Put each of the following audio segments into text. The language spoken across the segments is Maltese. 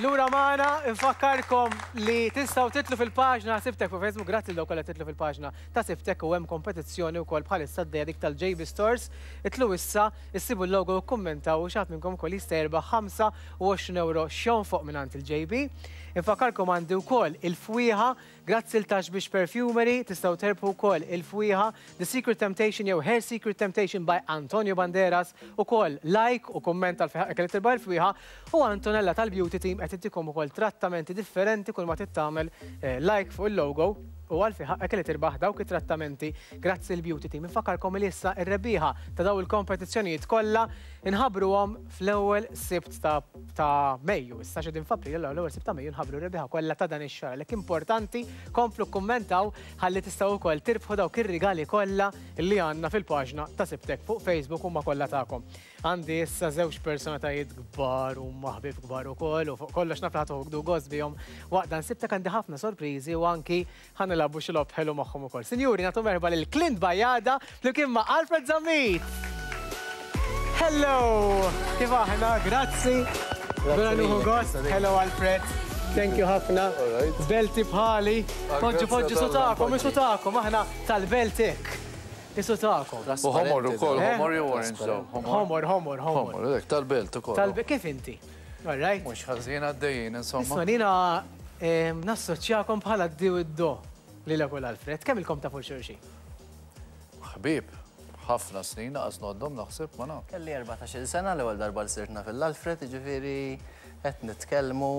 Lura magħna, infakkarkom li tistgħu titlu fil-paġna Sibtek fuq Facebook, grazzi lil dawk kollha titlu fil-paġna ta' Sibtek u hemm kompetizzjoni wkoll bħalissa għaddejja dik tal-JB Stores. Itlu issa, issibu l-logo u kkummentaw u xi ħadd minnkom ukoll jista' jirbaħ 25 ewro x'jonfoq mingħand il-JB. Infakkarkom għandi wkoll il-fwieħa Grazzi 'l Tax Biex Perfumery, tistgħu terbħu wkoll il-fwieħa The Secret Temptation jew Her Secret Temptation by Antonio Banderas, ukoll like u kumment għal fejn ħaqqek li tirbaħ il-fwieħa, u Antonella tal-Beauty Team qed ittikom ukoll trattamenti differenti kull ma trid tagħmel like fuq il-logo u għal fejn ħaqqek li tirbaħ dawk it-trattamenti grazzi l-Beauty Team. Infakkarkom li issa r-rebbieħa ta' dawn il-kompetizzjonijiet kollha inħabbruhom fl-ewwel Sibt ta' ta' Mejju. Issa x'qegħdin f'April, allura l-ewwel Sibt ta' Mejju nħabbru r-rebbieħa kollha ta' dan ix-xahar. Għalhekk importanti komplu kkummentaw ħalli tistgħu wkoll tirbħu dawk ir-rigali kollha li għandna fil-paġna ta' Sibtek fuq Facebook huma kollha tagħkom. Għandi issa żewġ personatajiet kbar huma ħbieb kbar ukoll u fuq kollox naf li ħa toħdu gost bihom waqt dan Sibtek għandi ħafna sorpriżi u anki Ħa nilagħbu xi logħob ħelu magħhom ukoll. Sinjuri, nagħtu merħba lil Clint Bajada flimkien ma' Alfred Zammit! Hello! Kif aħna? Grazzi. Vera nieħu gost. Hello Alfred. Thank you ħafna. Belti bħali. Poġġu poġġu su tagħkom, isu tagħkom, aħna tal-Belt hekk. Isu tagħkom. U ħomor ukoll, ħomor jew orange daw? Ħomor, ħomor, ħomor. Ħomor, tal-belt ukoll. Tal-belt, kif inti? All right. Mhux ħażin għaddejjin, insomma. Isma' jiena nassoċjakom bħala d-di u d-do lilek u l-Alfred. Kemm ilkom tafu 'l xulxin? Ħbieb, ħafna snin, lanqas ngħoddhom naħseb, ma nafx. Kelli 14-il sena l-ewwel darba li sirt naf 'il Alfred, jiġifieri qed nitkellmu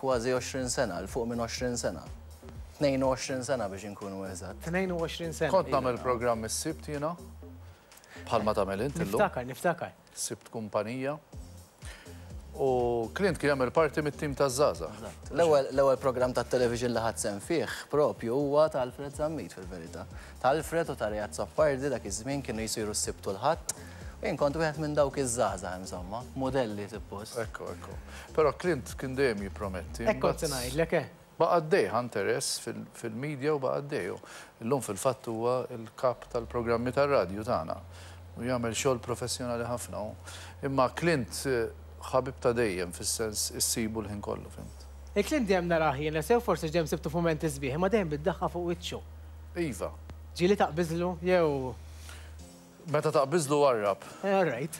kważi 20 sena, 'l fuq minn 20 sena. 22 sena biex inkunu eżatt. 22 sena. Kont nagħmel programm is-Sibt jiena, bħalma tagħmel int illum. Niftakar, niftakar. Sibt kumpanija. U Clint kien jagħmel parti mit-tim taż-żgħażagħ. Eżatt. L-ewwel l-ewwel programm tat-television li ħadt sehem fih propju huwa ta' Alfred Zammit fil-verità. Ta' Alfred u ta' Ray Azzopardi dak iż-żmien kienu jsiru s-Sibt u l-Ħadd. U jien kont wieħed minn dawk iż-żgħażagħ insomma, mudelli suppost. Ekku, ekku. Però Clint kien dejjem jipprometti. Hekk kont se ngħidlek, eh. Baqa' għaddej, ħa interess fil-media u baqa' għaddej. U llum fil-fatt huwa l-kap tal-programmi tar-radju tagħna u jagħmel xogħol professjonali ħafna hu. Imma Clint ħabib ta' dejjem fis-sens issibu l-ħin kollu, fhimt. Il-Clint dejjem narah jien, sew forsi għax dejjem sibtu f'mumenti sbieħ, imma dejjem bid-daħqa fuq wiċċu. Iva. Ġieli taqbiżlu jew? Meta taqbiżlu warrab. All right.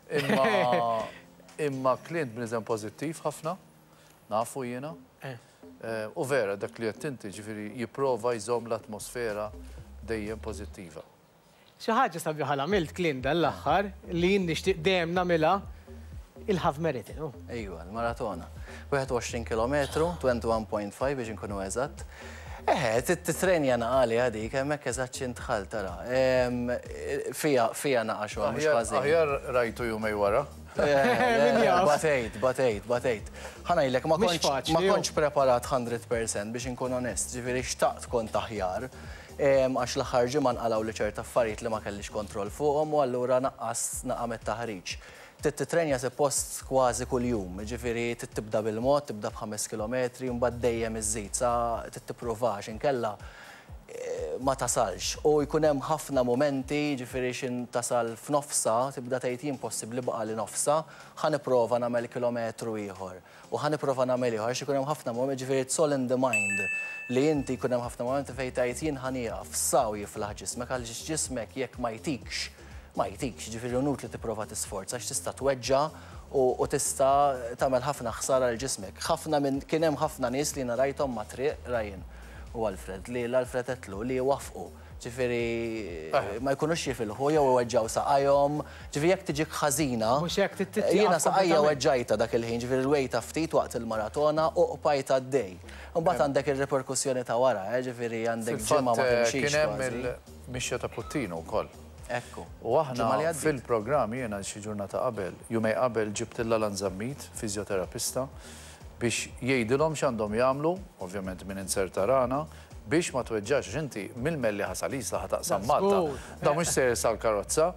Imma imma Clint bniedem pożittiv ħafna. Nafu jiena. U vera dak li għedt inti, ġifieri jipprova jżomm l-atmosfera dejjem pożittiva. Xi ħaġa sabiħa li għamilt Clint dan l-aħħar li jien nixtieq dejjem nagħmilha, il-half marathon, hu. Ejwa, il-maratona. 21 kilometru, 21.5 biex inkunu eżatt. Eħe, titrenja naqa għaliha dik, hemmhekk eżatt x'int dħalt tara. Fiha, fiha naqa xogħol mhux ħażin. Aħjar rajtu jumej wara. Min jaf. Batejt, batejt, batejt. Ħa ngħidlek, ma kontx, ma kontx preparat 100% biex inkun onest, ġifieri xtaqt kont aħjar. Għax l-aħħar ġimgħa nqalgħuli ċerta affarijiet li ma kellix kontroll fuqhom u allura naqqast naqa' mit-taħriġ. Trid titrenja suppost kważi kuljum, jiġifieri trid tibda bil-mod, tibda b'ħames kilometri u mbagħad dejjem iżżid sa trid tipprova għax inkella ma tasalx. U jkun hemm ħafna mumenti, jiġifieri x'in tasal f'nofsha tibda tgħid jien possibbli baqagħli nofsha, ħa nipprova nagħmel kilometru ieħor. U ħa nipprova nagħmel ieħor għax ikun hemm ħafna mumenti, jiġifieri it's all in the mind li inti jkun hemm ħafna mumenti fejn tgħid jien ħa nieqaf, sa u jiflaħ ġismek għaliex ġismek jekk ma jtikx, ma jtikx, jiġifieri inutli tipprova tisforza għax tista' tweġġa' u tista' tagħmel ħafna ħsara lil ġismek. Ħafna minn, kien hemm ħafna nies li jiena rajthom mat-triq, Ryan u Alfred, li 'l Alfred għedtlu li jwaffqu, ġifieri ma jkunux jifilħu jew iweġġgħu saqajhom, ġifieri jekk tiġik ħażina, jiena saqajja weġġajtha dak il-ħin, ġifieri rwejtha ftit waqt il-maratona u qbajt għaddej. Imbagħad għandek ir-riperkussjoni ta' wara, ġifieri għandek ġimgħa ma timxix Kien hemm il-mixja ta' Puttinu wkoll. Ekku. U aħna fil-programm jiena xi ġurnata qabel, jumejn qabel ġibt lil Alan Zammit, fiżjoterapista, biex jgħidilhom x'għandhom jagħmlu, ovvjament min inzerta rana, biex ma tweġġax għax inti mill-Mellieħa sal-Isla ħa taqsam Malta. Da mhux sejjer sal-karozza.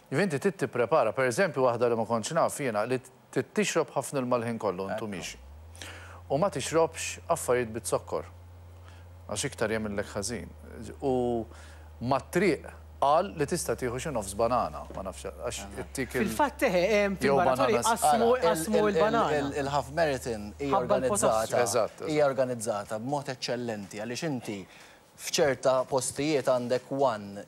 Jiġifieri inti trid tipprepara. Pereżempju waħda li ma kontx naf jiena li trid tixrob ħafna ilma l-ħin kollu intu miexi. U ma tixrobx affarijiet biz-zokkor għax iktar jagħmillek ħażin. U mat-triq. Qal li tista' tieħu xi nofs banana, ma nafx għax ittik il. Fil-fatt eħe, fil-maratoni qasmu qasmu l-banana. Il-half marathon hija organizzata hija organizzata b'mod eċċellenti għaliex inti f'ċerta postijiet għandek one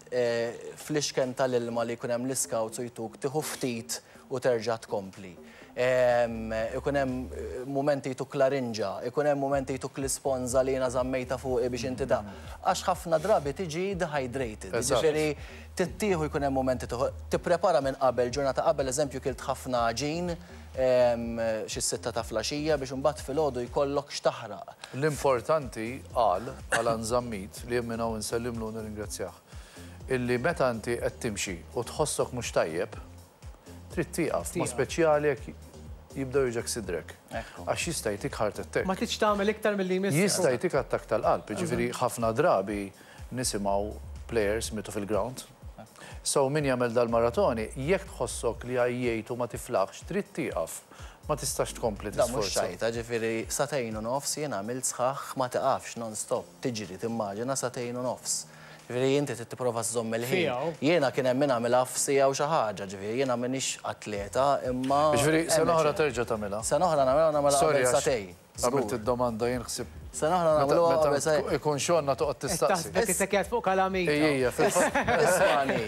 flixken tal-ilma li jkun hemm l-iscouts u jtuk tieħu ftit u terġa' tkompli. Ikun hemm mumenti jtuk larinġa, ikun hemm mumenti jtuk l-isponża li jiena żammejtha fuqi biex inti ta' għax ħafna drabi tiġi dehydrated. Jiġifieri trid tieħu jkun hemm mumenti tieħu tipprepara minn qabel, ġurnata qabel eżempju kilt ħafna għaġin xi s-sitta ta' flaxija biex imbagħad filgħodu jkollok x'taħraq. L-importanti, qal Alan Zammit, li jien minn hawn insellimlu u nirringrazzjah, illi meta inti qed timxi u tħossok mhux tajjeb, Trid tieqaf, mod speċjali jekk jibda juġgħek sidrek. Għax jista' jtik heart attack. Ma tridx tagħmel iktar milli jmissek. Jista' jtik attakk tal-qalb, jiġifieri ħafna drabi nisimgħu players mietu fil-ground. So min jagħmel dal-maratoni, jekk tħossok li għajjejt u ma tiflaħx, trid tieqaf. Ma tistax tkompli tisforza. Dan mhux ċajta, ġifieri sagħtejn u nofs jien għamilt sħaħ ma tiqafx non-stop, tiġri, timmaġina sagħtejn u nofs. Ġifieri inti trid tipprova żżomm il-ħin. Jiena kien hemm min għamilha f'siegħa u xi ħaġa, ġifieri jiena m'iniex atleta imma. Ġifieri sena oħra terġa' tagħmilha? Sena oħra nagħmilha u nagħmilha qabel sagħtejn. Sorry għax għamilt id-domanda jien ħsibt. Sena oħra nagħmluha qabel sagħtejn. Meta ikun xogħolna toqgħod tistaqsi. Qed taħsbek isek qiegħed fuq kalamita. Ejja, fil-fatt. Ismagħni.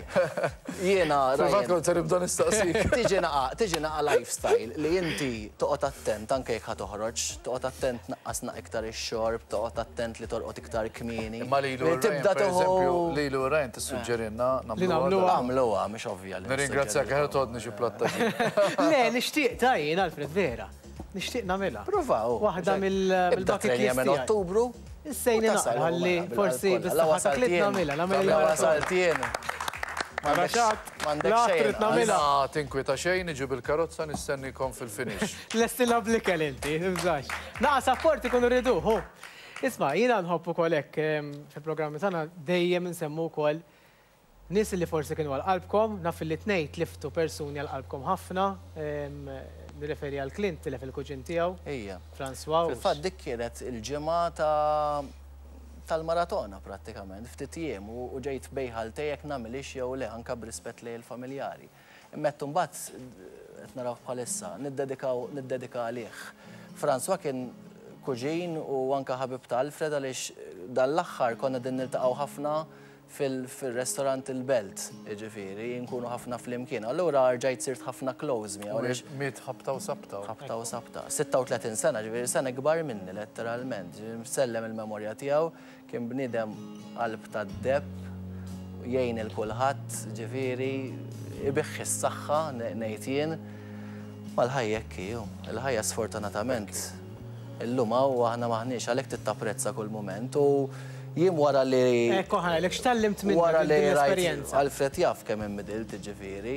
Jiena. Fil-fatt kont se nibda nistaqsik. Tiġi naqa' tiġi naqa' lifestyle li inti toqgħod attent anke jekk ħa toħroġ, toqgħod attent tnaqqas naqra iktar ix-xorb, toqgħod attent li torqod iktar kmieni. Imma lilu u Ryan, per eżempju, lilu u Ryan tissuġġerilna nagħmluha. Nagħmluha, mhix ovvja li. Nirringrazzjak, aħjar toħodni xi platt ta' ġin. Le, nixtieq ta' jien, Alfred, vera. Nixtieq nagħmilha. Prova, hu. Waħda mill-bucket list tiegħi. minn Ottubru. Issejni naqra ħalli forsi bis-saħħa ta' Clint nagħmilha, nagħmel il Wasalt jien. M'għandek xejn. Jiena tinkwita xejn, niġi bil-karozza nistennikom fil-finish. Lestilha bl-ikel inti, tibżax. Naqa' sapport ikunu rieduh, hu. Isma', jiena nħobb ukoll hekk fil-programmi tagħna dejjem insemmu wkoll nies li forsi kienu għal qalbkom, naf li t-tnejn tliftu persuni għal qalbkom ħafna, nirreferi għal Clint tilef il-kuġin tiegħu, François. Fil-fatt dik kienet il-ġimgħa ta' tal-maratona prattikament, ftit jiem u ġejt bejn ħaltej jekk nagħmilhiex jew le anke b'rispett lejn il-familjari. Imma għedt imbagħad qed narawh bħalissa, niddedikaw niddedika għalih. François kien kuġin u anke ħabib ta' Alfred għaliex dan l-aħħar konna qegħdin niltaqgħu ħafna fil-restaurant il-Belt, jiġifieri, nkunu ħafna flimkien. Allura rġajt sirt ħafna close miegħu għaliex. Miet ħabta u sabta. Ħabta u sabta. 36 sena, ġifieri sena ikbar minni letteralment. Ġifieri nsellem il-memorja tiegħu, kien bniedem qalb tad-deheb, jgħin 'il kulħadd, ġifieri ibiħħ is-saħħa ngħid jien. Ma l-ħajja hekk hi, hu. Il-ħajja sfortunatament illum hawn u aħna m'aħniex, għalhekk trid tapprezza kull mument u jien wara li. Ekku ħa ngħidlek, x'tgħallimt minn Wara din li rajt l-esperjenza? Alfred jaf kemm inbidilt, jiġifieri.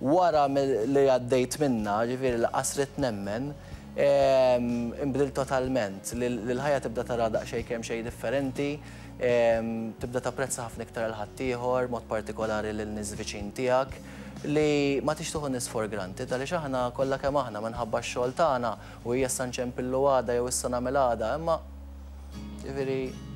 Wara li għaddejt minnha, jiġifieri lanqas ridt nemmen, inbidilt totalment. Li l-ħajja tibda taraha daqsxejn kemm xejn differenti, tibda tapprezza ħafna iktar 'il ħaddieħor, mod partikolari lil nies viċin tiegħek, li ma tix tieħu n-nies for granted għaliex aħna kollha kemm aħna minħabba x-xogħol tagħna u hija issa nċempillu għada jew issa nagħmel għada, imma jiġifieri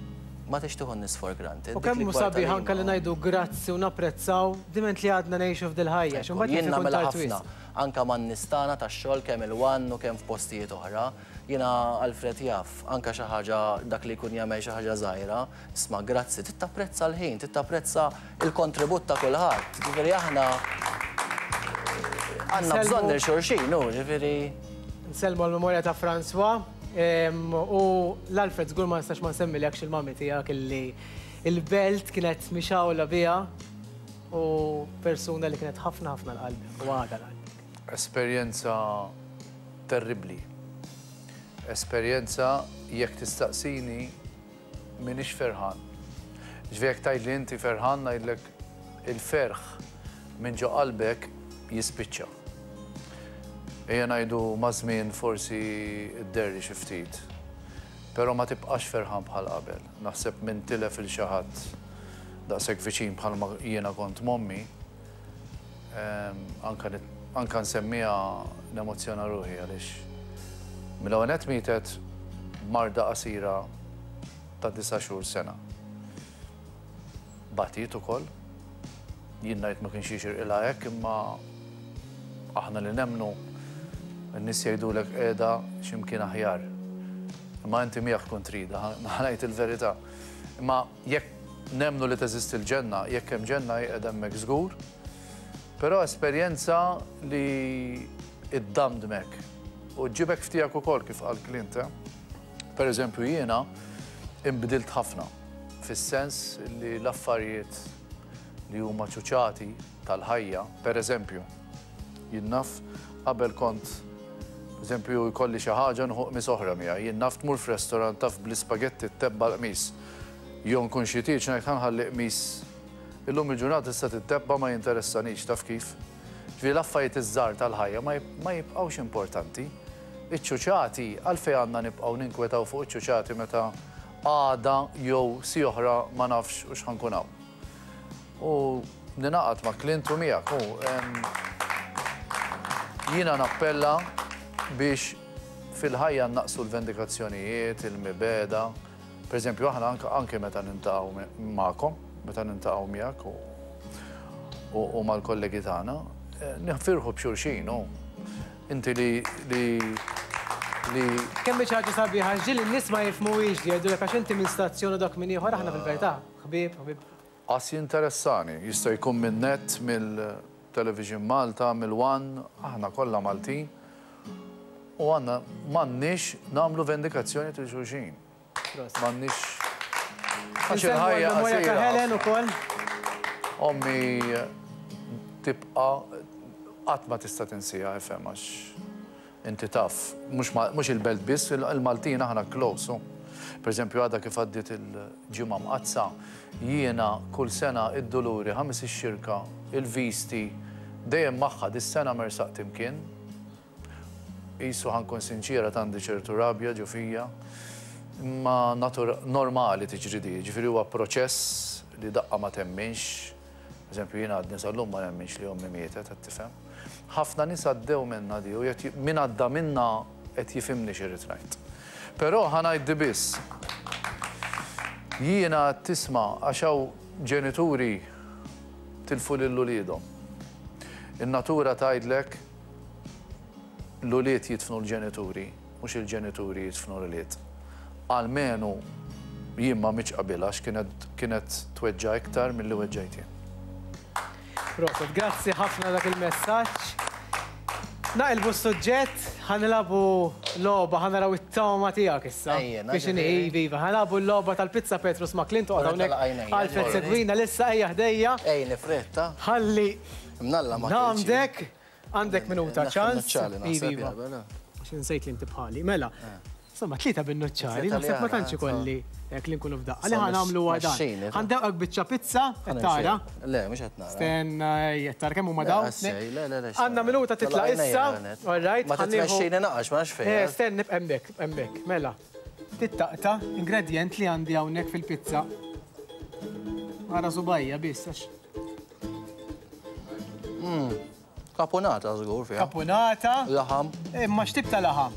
ma tix tieħu n-nies for granted. U kemm hu sabiħ anke li ngħidu grazzi u napprezzaw diment li għadna ngħixu f'dil-ħajja, għax imbagħad jien nagħmilha ħafna, anke man-nies tagħna tax-xogħol kemm il-One u kemm f'postijiet oħra. Jiena Alfred jaf, anke xi ħaġa dak li jkun jagħmel xi ħaġa żgħira, isma' grazzi, trid tapprezza l-ħin, trid tapprezza l-kontribut ta' kulħadd. Ġifieri aħna għandna bżonn lil xulxin, hu, ġifieri. Nsellmu għall-memorja ta' François u l-Alfred żgur ma nistax ma nsemmilekx il-mummy tiegħek illi l-belt kienet mixgħula biha u persuna li kienet ħafna ħafna l-qalbek u għadha l-qalbek. Esperjenza terribbli. Esperjenza jekk tistaqsini m'iniex ferħan. Ġifieri jekk tgħidli inti ferħan ngħidlek il-ferħ minn ġo qalbek jispiċċa. Ejja ngħidu maż-żmien forsi dderri xi ftit, però ma tibqax ferħan bħal qabel. Naħseb min tilef 'il xi ħadd daqshekk viċin bħalma jiena kont m'ommi, Anka anka nsemmiha nemozzjona ruħi għaliex mill-ewwel nett mietet b'marda qasira ta' disa' xhur sena. Batiet ukoll. Jien ngħid ma kienx jixirqilha hekk imma aħna li nemmnu n-nies jgħidulek qiegħda xi mkien aħjar. Imma inti miegħek tkun tridha, ħa ngħid il-verità. Imma jekk nemmnu li teżisti l-ġenna, jekk hemm ġenna hi qiegħda hemmhekk żgur. Però esperjenza li ddamdmek u ġġibek f'tiegħek ukoll kif qal Clint, eh? Per eżempju jiena inbdilt ħafna fis-sens li l-affarijiet li huma ċuċati tal-ħajja, per eżempju, jien naf qabel kont eżempju jkolli xi ħaġa nieħu qmis oħra miegħi, jien naf tmur f'restaurant taf bl-ispagetti ttebba' l-qmis. Jew nkun xi tieġ ngħid ħa nħalli qmis. Illum il-ġurnata tista' tittebba' ma jinteressanix, taf kif? Ġifieri l-affarijiet iż-żgħar tal-ħajja ma jibqgħux importanti. Iċ-ċuċati, għalfejn għandna nibqgħu ninkwetaw fuq iċ-ċuċati meta għada jew siegħa oħra ma nafx hux ħa nkun hawn. U ningħaqad ma' Clint u miegħek u jiena nappella biex fil-ħajja nnaqqsu l-vendikazzjonijiet, il-mibegħda. Per eżempju, aħna anke meta niltaqgħu magħkom, meta niltaqgħu miegħek u mal-kollegi tagħna, nifirħu b'xulxin u inti li li li. Kemm hi xi ħaġa sabiħa, ġieli n-nies ma jifhmuhiex li jgħidulek għax inti minn stazzjon u dak minn ieħor, aħna fil-verità ħbieb, ħbieb. Qas jinteressani, jista' jkun minn Net, mill-Television Malta, mill-One, aħna kollha Maltin u għandna m'għandniex nagħmlu vendikazzjoni lil xulxin. M'għandniex. Għax il-ħajja qasira. ta' Helen ukoll. Ommi tibqa' qatt ma tista' tinsiha ifhem għax inti taf, mhux il-belt biss, il-Maltin aħna close. Per eżempju għadha kif għaddiet il-Ġimgħa Mqaddsa, jiena kull sena id-Duluri, Ħamis ix-Xirka, il-Visti, dejjem magħha, dis-sena m'ersaqt imkien. Qisu ħa nkun sinċiera għandi ċertu rabja ġo fija, imma normali tiġri di, jiġifieri huwa proċess li daqqa ma temminx. Eżempju jiena għadni sal-lum ma nemminx li ommi mietet, qed tifhem. Ħafna nies għaddew minnha di u qed min għadda minnha qed jifhimni x'irrid ngħid. Però ħa ngħid di biss. Jiena qed tisma' għax hawn ġenituri tilfu lil uliedhom. In-natura tgħidlek L-ulied jidfnu l-ġenituri, mhux il-ġenituri jidfnu l-ulied. Almenu jien ma mitx qabilha għax kienet kienet tweġġa' iktar milli weġġajt jien. Proset, grazzi ħafna dak il-messaġġ. Naqilbu s-suġġett, ħa nilagħbu logħba, ħa naraw it-togħma tiegħek issa. Ejjena, Biex inhi, ġifieri. iva, iva, ħa nilagħbu l-logħba tal-pizza Petrus ma' Clint, oqgħod Ora hawnhekk. tala' għajnejja, Alfred ġifieri. segwina lissa ejja ħdejja. Ej, nifretta. Ħalli Mnalla ma kiltx. Għandek Għandek minuta ċans. Nuċċali naħseb. Iva. Għax insejt li inti bħali. Mela, insomma, tlieta bin-nuċċali, naħseb ma tantx ikolli hekk li nkunu f'daqqa. Li ħa nagħmlu huwa dan. Ħa ndewqek biċċa pizza, qed tara? Le, mhux qed nara. Stenna, qed tara kemm huma dawn? Għandna minuta titla' issa. All right. Ma titmexxini naqax, ma nafx fejn. Eh, stenna, hemmhekk, hemmhekk. Mela, tittaqta' ingredjent li għandi hawnhekk fil-pizza. Ara subajja biss għax. Kapunata żgur fiha. Kapunata. Laħam. Imma x'tip ta' laħam?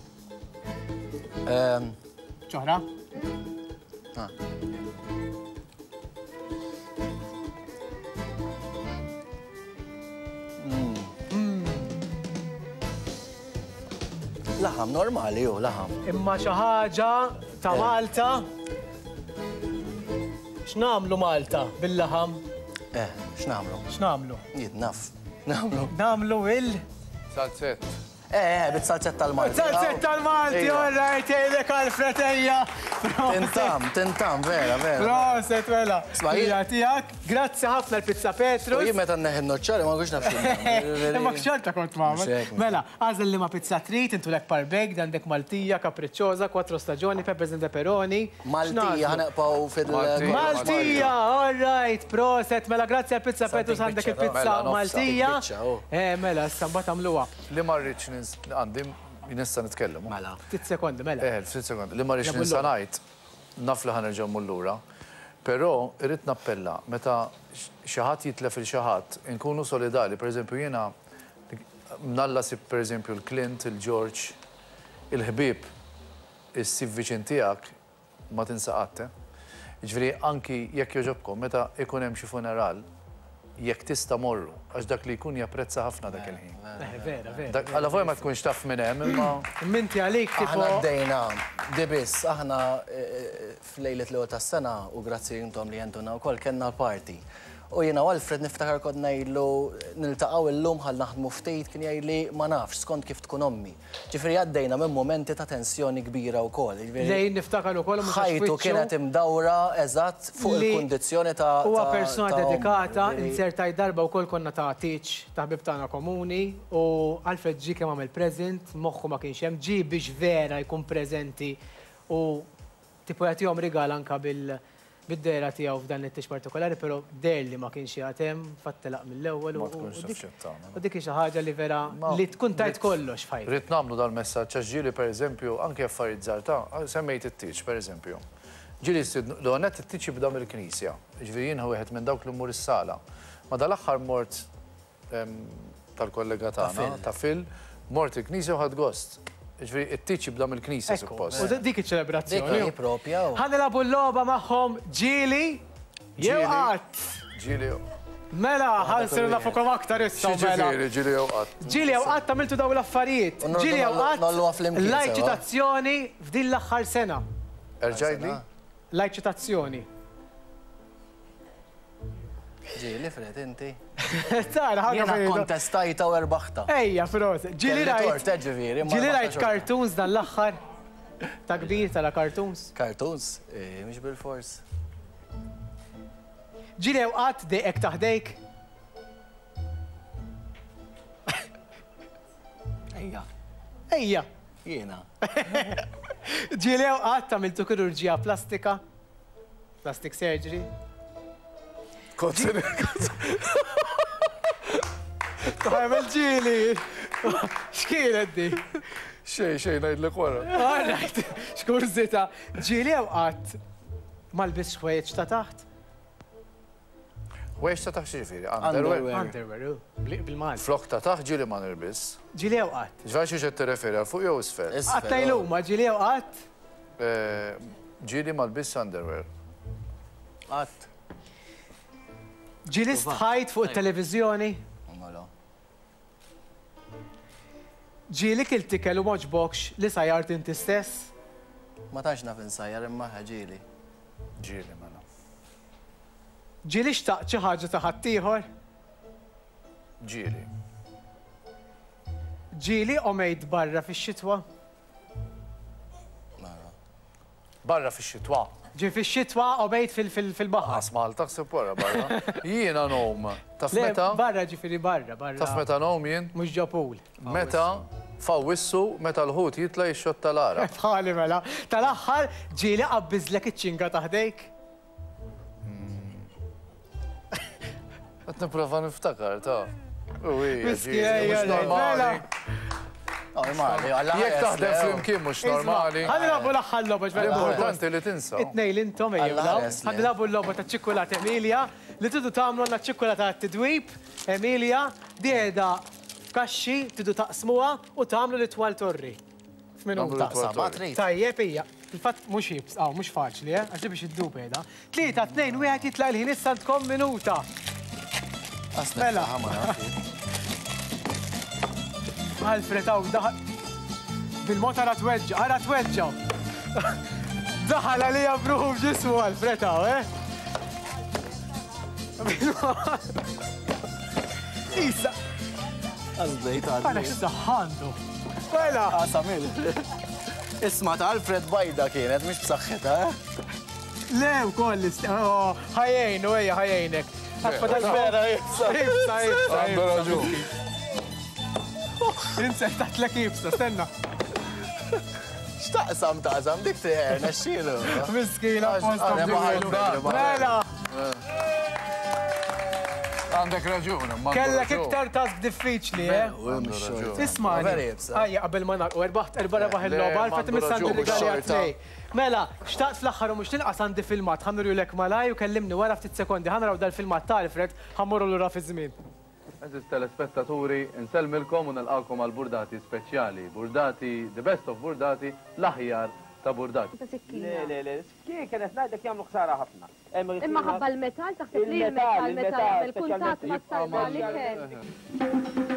Ċoħra? Ah. Laħam normali ju, laħam. Imma xi ħaġa ta' eh. Malta. X'nagħmlu Malta bil-laħam? Eh, x'nagħmlu? X'nagħmlu? Jien naf. Nagħmlu. Nagħmlu il Salzett. Eh, eh, bit-salzett tal-Malti. Salzett tal-Malti, all right, jgħidlek Alfred ejja. Tintam, tintam, vera, vera. Proset, mela. Hija tiegħek. Grazzi ħafna l-Pizza Petrus. U jien meta nneħħi n-noċċali ma nkunx naf x'inhu. Imma xorta kont magħmel. Mela, agħżel liema pizza trid, intu lek parbeg, għandek Maltija, Capricciosa, Quattro Stagioni, Peppers and Pepperoni. Maltija, ħa nibqgħu fil- Maltija, all right, proset, mela grazzi għal Pizza Petrus għandek il-pizza Maltija. Eh, mela, issa mbagħad għamluha. Li ma rridx nins, għandi, nista' nitkellem. Mela. Ftit sekondi, mela. Eh, ftit sekondi. Li ma rridx ninsa ngħid, naf li ħa nerġa' mmur lura, però irrid nappella meta xi ħadd jitlef 'il xi ħadd, inkunu solidali. Pereżempju jiena mnalla sib pereżempju l-Clint, il-George, il-ħbieb issib viċin tiegħek ma tinsa qatt, eh. Jiġifieri anki jekk jogħġobkom meta ikun hemm xi funeral, Jekk tista' morru, għax dak li jkun japprezza ħafna dak il-ħin. Vera, vera. Allavolja ma tkunx taf minn hemm, imma. Imma inti għalik tipo. Aħna bdejna, di biss, aħna f'lejlet l-ewwel tas-sena, u grazzi intom li għentuna wkoll, kellna l-party. U jiena u Alfred niftakar kont ngħidlu niltaqgħu illum ħalli naħdmu ftit, kien jgħidli ma nafx, skont kif tkun ommi. Ġifieri għaddejna minn mumenti ta' tensjoni kbira wkoll. Lejn niftakar ukoll mhux għax Ħajtu wiċċu. kienet imdawra eżatt fuq il-kundizzjoni ta' Huwa persuna ta' ommu, dedikata, ġifieri. inzertajt darba wkoll konna ta' tieġ ta' ħbieb tagħna komuni u Alfred ġie kemm għamel present, moħħu ma kienx hemm, ġie biex vera jkun preżenti u Tipo jagħtihom rigal anka bil bid-dehra tiegħu f'dan it-tieġ partikolari, però deher li ma kienx qiegħed hemm, fatt telaq mill-ewwel u Ma tkunx taf x'qed tagħmel. u dik hi xi ħaġa li vera li tkun tajt kollox f'ħajtek. Ridt nagħmlu dal-messaġġ għax ġieli pereżempju anke affarijiet żgħar ta' semmejt it-tieġ pereżempju. Ġieli jistidnu, l-ewwel nett it-tieġ jibda mill-knisja, jiġifieri jien wieħed minn dawk li mmur is-sala. Ma dal-aħħar mort tal-kollega tagħna, ta' Phil, mort il-knisja u ħadt gost. Jiġifieri it-tieġ jibda mill-knisja suppost. U dik iċ-ċelebrazzjoni. Dik hi propja. Ħa nilagħbu l-logħba magħhom ġieli jew qatt. Ġieli jew. Mela, ħa nsiru nafukom aktar issa. X'jiġifieri ġieli jew qatt? Ġieli jew qatt għamiltu dawn l-affarijiet. Ġieli jew qatt l-eċitazzjoni f'din l-aħħar sena. Erġa' għidli. L-eċitazzjoni. Ġieli, Fred, inti. Tara, ħaġa Jiena kontestajta u erbaħta. Ejja, proset. Ġieli rajt. Tort, ġifieri. Ġieli rajt cartoons dan l-aħħar. Ta' kbir tara cartoons. Cartoons? Eh, mhux bil-fors. Ġieli jew qatt dejqek taħdejk? Ejja. Ejja. Jiena. Ġieli jew qatt għamiltu kirurġija plastika? Plastic surgery. Tagħmel ġieli. X'kienet di? Xejn, xejn ngħidlek wara. All right. X'kurżità. Ġieli jew qatt ma lbistx ħwejjeġ ta' taħt? Ħwejjeġ ta' taħt x'jiġifieri? Underwear. Underwear, bil-Malti. Flok ta' taħt ġieli ma nilbis. Ġieli jew qatt? Ġifieri xiex qed tirreferi għal fuq jew isfel? Qatt ngħidluma ġieli jew qatt? Ġieli ma lbistx underwear. Qatt. Ġieli stħajt fuq it-televiżjoni? Mela. Ġieli kilt ikel u m'għoġbokx li sajjart inti stess? Ma tantx naf insajjar imma ġieli. Ġieli mela. Ġieli xtaqt xi ħaġa ta' ħaddieħor? Ġieli. Ġieli għomejt barra fix-xitwa? Mela. Barra fix-xitwa. Ġie fix-xitwa għomejt fil-baħar. Qas Malta ħsib wara barra. Jiena ngħum. Taf meta? Barra ġifieri barra, barra. Taf meta ngħum jien? Mhux ġo pool. Meta f'Awwissu meta l-ħut jitla' jixxotta l-għaraq. Bħali mela. Tal-aħħar ġieli qabbiżlek iċ-ċinga ta' ħdejk? Qed nipprova niftakar ta' Mhux normali. Normali, Jekk taħdem flimkien mhux normali. Ħa nilagħbu l-aħħar logħba ġbel. Importanti li tinsa. It-tnejn li intom ejjew. Ħa nilagħbu l-logħba ta' ċikkulata Emilia li tridu tagħmlu għandna ċikkulata għat-tidwib Emilia di qiegħda f'kaxxi tridu taqsmuha u tagħmlu l-itwal torri. F'minuta. Taqsam, trid. Tajjeb hija. Fil-fatt mhux ħibs, aw mhux faċli, eh, għax biex iddub qiegħda. Tlieta, tnejn, wieħed jitlaq il-ħin issa għandkom minuta. Mela. Alfred hawn daħal. Bil-mod ara tweġġa, ara tweġġa. Daħal għalija bruħu f'ġismu Alfred hawn, eh? Isa. Għażbejt għal. Għala x'saħħandu. Mela. Għasam il. Isma ta' Alfred bajda kienet, mhux b'saħħitha, eh? Le, wkoll oh, ħajjejnu, ejja, ħajjejnek. Vera, jibsa. Jibsa, jibsa. Għandu raġun. Inse taħtlek jibsa, stenna. X'taqsam taqsam dik teħer, nexxielu. Miskina, posta. Mela. Għandek raġun, imma. Kellek iktar task diffiċli, eh? Isma' Ejja, qabel ma nagħlqu, erbaħt erba' rebaħ il-logħba, Alfred imissa għandi rigali għat-tnejn. Mela, xtaqt fl-aħħar u mhux l-inqas għandi filmat, ħa nurihulek malajr u kellimni wara ftit sekondi. Ħa naraw dal-filmat ta' Alfred, ħa mmorru lura fiż-żmien. Għeżież telespettaturi, insellmilkom u nilqagħkom għal Burdati speċjali. Burdati, the best of Burdati, l-aħjar ta' burdat. Ta' sikkina. Le, le, le, skieken qed ngħidlek jagħmlu ħsara ħafna. Imma ħabba l-metall taħseb li l-metall meta jagħmel kuntatt mat-talba l-ikel.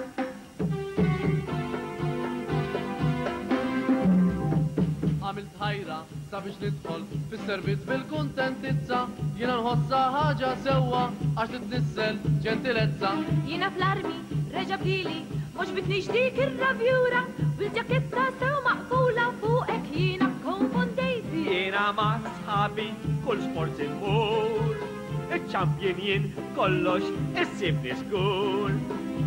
Għamilt ħajra sabiex nidħol fis-servizz bil-kuntentizza, jiena nħossha ħaġa sewwa għax titnissel ġentilezza. Jiena fl-armi, reġa' bdili, m'għoġbitnix dik ir-ravjura, bil-ġaketta sew maqfula fuqek jiena kkonfondejt. Jiena ma' sħabi kull sport immur, iċ-champion jien kollox issibni żgur.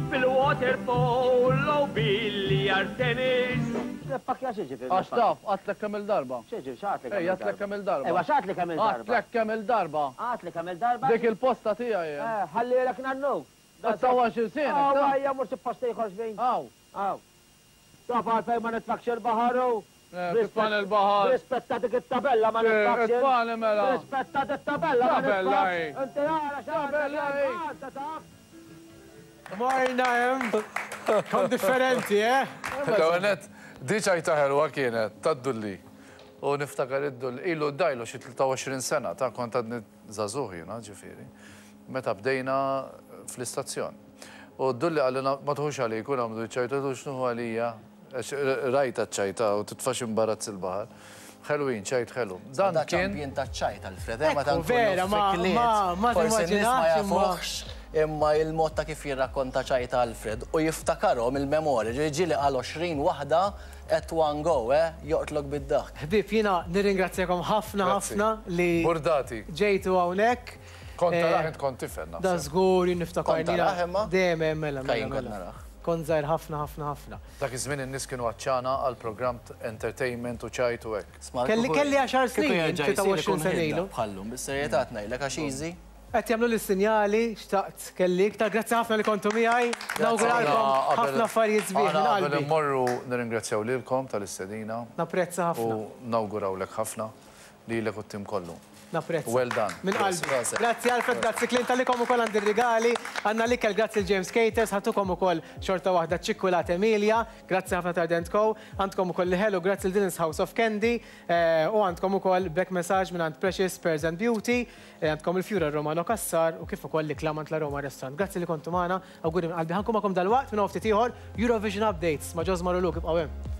Fil-waterpolo, billiard, tennis. Pakkja x'jiġifieri? Għax taf, għadtlek kemm il-darba. X'jiġifieri x'għadtlek kemm il-darba? Ej, għadtlek kemm il-darba. Ejwa x'għadtlek kemm il-darba? Għadtlek kemm il-darba. Għadtlek kemm il-darba. Dik il-posta tiegħi hemm. Eh, ħallielek nannu. Qed tgħawwax ilsienek, Aw, ta. ejja mur xi post ieħor xbin. Aw. Aw. Taf għalfejn ma nitfakx il-baħar u? Titfani l-baħar. Rispetta dik it-tabella ma nitfakx. Titfani mela. Rispetta dik it-tabella ma Tabella hi. nitfakx. Inti ara x'għandek Tabella hi. Malta taf. Morna hemm. Kom differenti, eh? L-ewwel nett, di ċajta ħelwa kienet, tad-dulli. U niftakar id-dulli, ilu dajlu xi 23 sena, ta' kont għadni żagħżugħ jiena, ġifieri, meta bdejna fl-istazzjon. U d-dulli qalilna ma tħux għalik u nagħmlu ċ-ċajta, għedtlu x'nieħu għalija? Għax rajtha ċ-ċajta u titfax imbarazz il-baħar. Ħelwin, ċajt ħelu. Dan Da kien. ċampjin taċ-ċajt, Alfred, eh, meta Ekku, nkunu vera, ma- fi kliet, ma- ma forsi n-nies ma timmaġinax imma- jafuhx, imma il-mod ta' kif jirrakkonta ċajta Alfred u jiftakarhom il-memorja, ġieli ġieli qal 20 waħda at one go, eh, joqtlok bid-daħk. Ħbieb, jiena nirringrazzjakom ħafna Grazzi. ħafna li Burdati. ġejtu hawnhekk. Kont Eh, tarah int kont tifel naħseb. Da żgur jien niftakar Kont tarah imma? Dejjem hemm mela mela. Kajjin kont mela. narah. Kont żgħir ħafna ħafna ħafna. Dak iż-żmien in-nies kienu għatxana għal programm entertainment u ċajt u hekk. Sma, Kelli kieku- kelli għaxar kieku snin, jerġa' jsir 23 ikun sena ħidda ilu. Bħallum, bis-serjetà ngħidlek għax easy. Qed jagħmlu li sinjali xtaqt kelli iktar. Grazzi ħafna li kontu miegħi. Nawguralkom Aħna qabel- ħafna affarijiet sbieħ minn aħna qabel qalbi. immorru nirringrazzjaw lilkom tal-istedina Napprezza ħafna. u nawgurawlek ħafna lilek u t-tim kollu. Napprezza. Well done. Minn qalbi. Grazie. Grazzi Alfred, grazzi Clint, għalikom ukoll għandi rigali. Għandna l-ikel grazzi l-James Caters, ħatukom ukoll xorta waħda ċikkulat Emilia, grazzi ħafna ta' Dent Co. Għandkom ukoll l-ħelu, grazzi l-Dylan's House of Candy, u għandkom ukoll back massage minn għand Precious Pears and Beauty, għandkom il-Fjura Romano Cassar u kif ukoll l-ikla mant la Roma Restaurant. Grazzi li kontu magħna, awguri minn qalbi. Ħankun magħkom dalwaqt minn hawn ftit ieħor Eurovision Updates ma' Josmar u Luke, ibqgħu hemm.